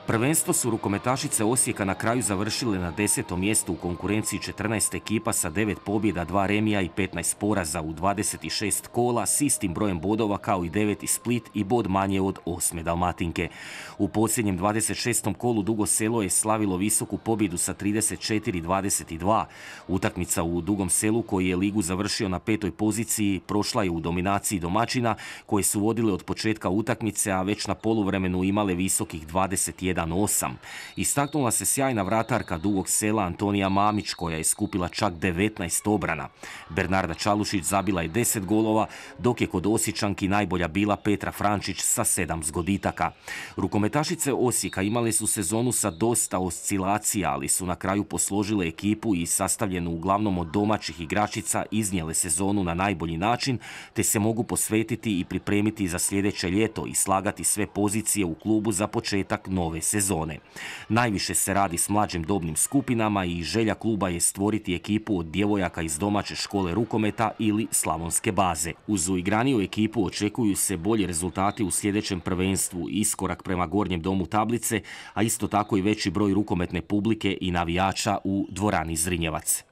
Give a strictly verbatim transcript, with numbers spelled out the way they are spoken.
Prvenstvo su rukometašice Osijeka na kraju završile na desetom mjestu u konkurenciji četrnaest ekipa sa devet pobjeda, dva remija i petnaest poraza u dvadeset šest kola s istim brojem bodova kao i deveti Split i bod manje od osme Dalmatinke. U posljednjem dvadeset šestom kolu Dugo Selo je slavilo visoku pobjedu sa trideset četiri dvadeset dva. Utakmica u Dugom Selu, koji je ligu završio na petoj poziciji, prošla je u dominaciji domaćina koje su vodile od početka utakmice, a već na poluvremenu imale visokih dvadeset jedan osam. Istaknula se sjajna vratarka Dugog Sela Antonija Mamić, koja je skupila čak devetnaest obrana. Bernarda Čalušić zabila je deset golova, dok je kod Osječanki najbolja bila Petra Frančić sa sedam zgoditaka. Rukometašice Osijeka imale su sezonu sa dosta oscilacija, ali su na kraju posložile ekipu i sastavljenu uglavnom od domaćih igračica iznijele sezonu na najbolji način, te se mogu posvetiti i pripremiti za sljedeće ljeto i slagati sve pozicije u klubu za početak nove sezone. Najviše se radi s mlađim dobnim skupinama i želja kluba je stvoriti ekipu od djevojaka iz domaće škole rukometa ili slavonske baze. Uz uigraniju ekipu očekuju se bolji rezultati u sljedećem prvenstvu, iskorak prema gornjem domu tablice, a isto tako i veći broj rukometne publike i navijača u dvorani Zrinjevac.